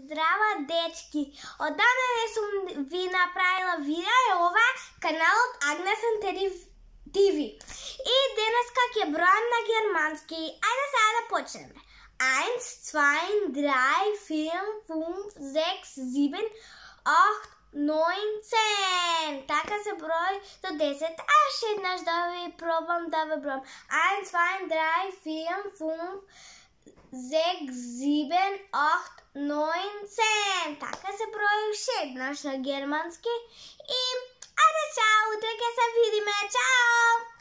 Здрава, дечки! Одамна сум ви направила видео и ова каналот Агнес ТV. И денеска ќе бројам на германски. Ајде сега да почнеме. 1, 2, 3, 4, 5, 6, 7, 8, 9, 10. Така се брои до 10. Аш еднаш да ви пробам да ви бројам. 1, 2, 3, 4, 5, 6, 7, 8, 9, 10. Така се брои уште еднаш на германски. И ајде чао, утре ќе се видиме. Чао!